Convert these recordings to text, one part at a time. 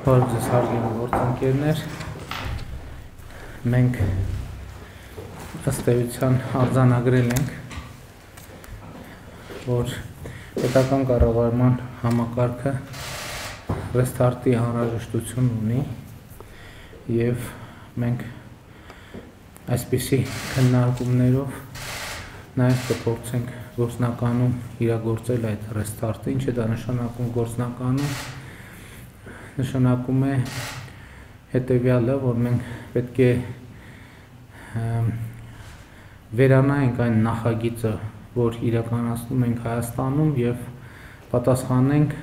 Բարև ձեզ հարգելի գործընկերներ, մենք ըստ էության արձանագրել ենք, որ պետական կառավարման համակարգը ռեստարտի անհրաժեշտություն ունի եւ մենք այսպիսի քննարկումներով նաեւ կփորձենք գործնականում իրագործել այդ ռեստարտը, ինչ է դա նշանակում գործնականում նշանակում է հետևյալը, որ մենք պետք է վերանայենք այն նախագիծը, որ իրականացնում ենք Հայաստանում եւ պատասխանենք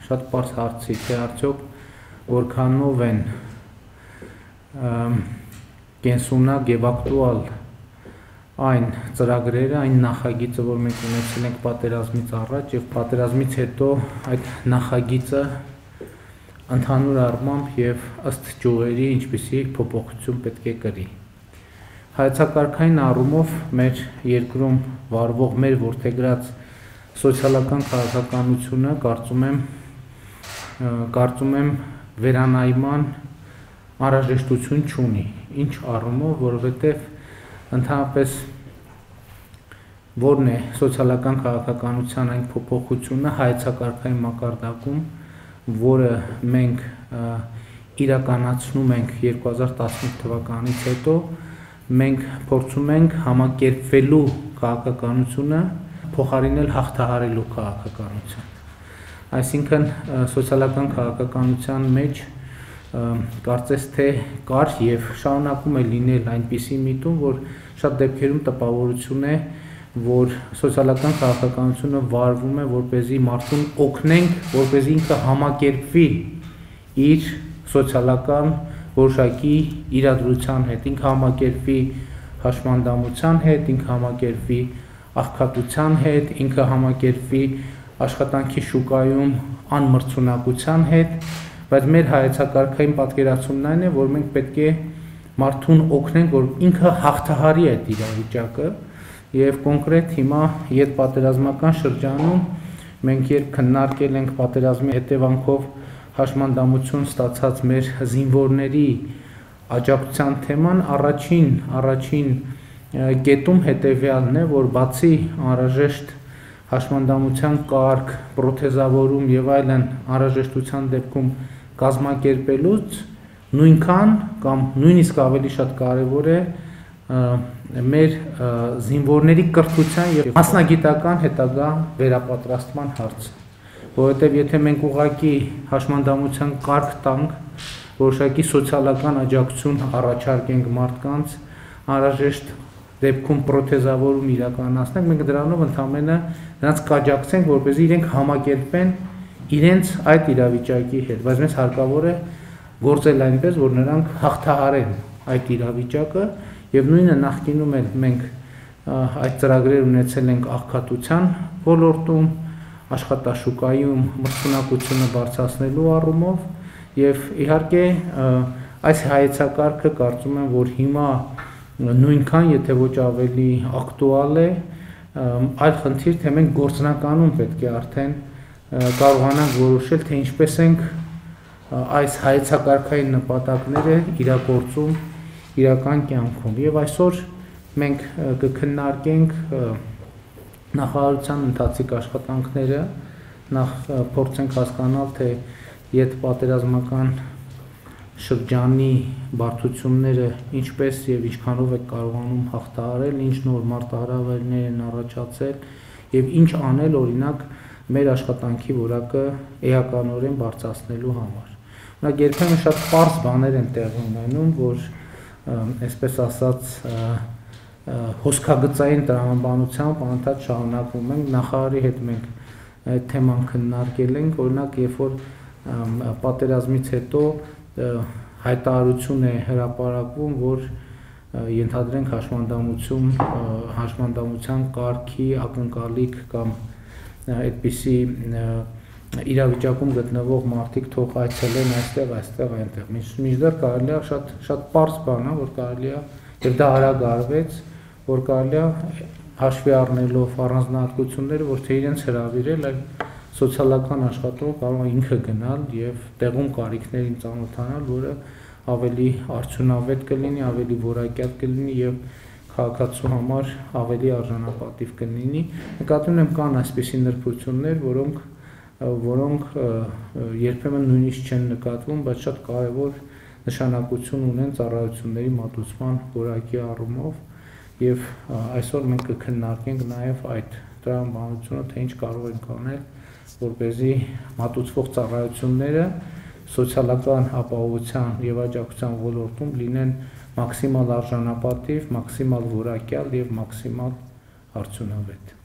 շատ պարզ հարցի, թե արդյոք որքանով են կենսունակ եւ ակտուալ այն ծրագրերը, այն նախագիծը, որ մենք ունեցել ենք պատերազմից առաջ եւ պատերազմից հետո այդ նախագիծը ընդհանուր առմամբ եւ ըստ ճյուղերի ինչպիսի փոփոխություն պետք է կրի։ Հայեցակարգային առումով մեր երկրում վարվող մեր որդեգրած սոցիալական քաղաքականությունը կարծում եմ վերանայման անհրաժեշտություն չունի, ինչ առումով, որովհետեւ ընդհանրապես որն է սոցիալական քաղաքականության այն փոփոխությունը հայեցակարգային մակարդակում, որը մենք իրականացնում ենք 2015 թվականից հետո, մենք փորձում ենք համակերպվելու քաղաքականությունը փոխարինել հաղթահարելու քաղաքականություն։ Այսինքն սոցիալական քաղաքականության մեջ կարծես թե կար եւ շարունակում է լինել այնպիսի միտում, որ շատ դեպքերում տպավորություն է, որ սոցիալական քաղաքականությունը վարվում է, որպեսզի մարդուն օգնենք, որպեսզի ինքը համակերպվի իր սոցիալական որոշակի իրադրության հետ, ինքը համակերպվի հաշմանդամության հետ, ինքը համակերպվի աղքատության հետ, ինքը համակերպվի աշխատանքի շուկայում անմրցունակության հետ, բայց մեր հայեցակարգային պատկերացումն այն է, որ մենք պետք է մարդուն օգնենք, որ ինքը հաղթահարի այդ իրավիճակը եւ կոնկրետ հիմա յետպատերազմական շրջանում մենք երբ քննարկել ենք պատերազմի հետևանքով հաշմանդամություն ստացած մեր զինվորների աջակցության թեման, առաջին կետում հետեւյալն է, որ բացի անհրաժեշտ հաշմանդամության կարգ, պրոթեզավորում եւ այլն անհրաժեշտության դեպքում կազմակերպելուց նույնքան կամ նույնիսկ ավելի շատ կարեւոր է մեր զինվորների կրթության եւ մասնագիտական հետագա վերապատրաստման հարցը, որովհետեւ եթե մենք ուղղակի հաշմանդամության կարգ տանք, որոշակի սոցիալական աջակցություն առաջարկենք մարդկանց, անհրաժեշտ դեպքում պրոթեզավորում իրականացնենք, մենք դրանով ընդհանրապես նրանց կաջակցենք, որպեսզի իրենք համակերպեն իրենց այդ իրավիճակի հետ, բայց մեզ հարկավոր է գործել այնպես, որ նրանք հաղթահարեն այդ իրավիճակը եւ նույնը նախկինում էլ մենք այդ ծրագրեր ունեցել ենք աղքատության ոլորտում, աշխատաշուկայում մրցունակությունը բարձրացնելու առումով եւ իհարկե այս հայեցակարգը կարծում եմ, որ հիմա նույնքան, եթե ոչ ավելի ակտուալ է, այլ խնդիր, թե մենք գործնականում պետք է արդեն կարողանանք որոշել, թե ինչպես ենք այս հայեցակարգային նպատակները իրագործում իրական կյանքում եւ այսօր մենք կքննարկենք նախարարության ընթացիկ աշխատանքները, փորձենք հասկանալ, թե յետպատերազմական շրջանի բարդությունները ինչպես եւ ինչքանով է կարողանում հաղթահարել, ինչ նոր մարտահրավերներ են առաջացել եւ ինչ անել օրինակ մեր աշխատանքի որակը էականորեն բարձրացնելու համար։ Օրինակ երբեմն շատ պարզ բաներ են տեղի ունենում, որ այսպես ասած հոսքագծային տրամաբանությամբ անընդհատ շարունակվում ենք, նախարարի հետ մենք այդ թեման քննարկել ենք, օրինակ երբ որ պատերազմից հետո հայտարարություն է հրապարակվում, որ ենթադրենք հաշմանդամության կարգի ակնկալիք կամ այդպիսի իրավիճակում գտնվող մարդիկ թող այցելեն այստեղ, այնտեղ։ Մինչդեռ կարելի է շատ պարզ բան է, որ կարելի է, եւ դա արագ արվեց, որ կարելի է հաշվի առնելով առանձնահատկությունները, ոչ թե իրենց հրավիրել, այլ սոցիալական աշխատողը կարող է ինքը գնալ եւ տեղում կարիքներին ծանոթանալ, որը ավելի արդյունավետ կլինի, ավելի որակյալ կլինի եւ քաղաքացու համար ավելի արժանապատիվ կլինի։ Նկատի ունեմ կան այսպիսի նրբություններ, որոնք երբեմն նույնիսկ չեն նկատվում, բայց շատ կարևոր նշանակություն ունեն ծառայությունների մատուցման որակի առումով եւ այսօր մենք կքննարկենք նաեւ այդ տրամաբանությունը, թե ինչ կարող ենք անել, որպեսզի մատուցվող ծառայությունները սոցիալական ապահովության եւ աջակցության ոլորտում լինեն մաքսիմալ արժանապատիվ, մաքսիմալ որակյալ եւ մաքսիմալ արդյունավետ։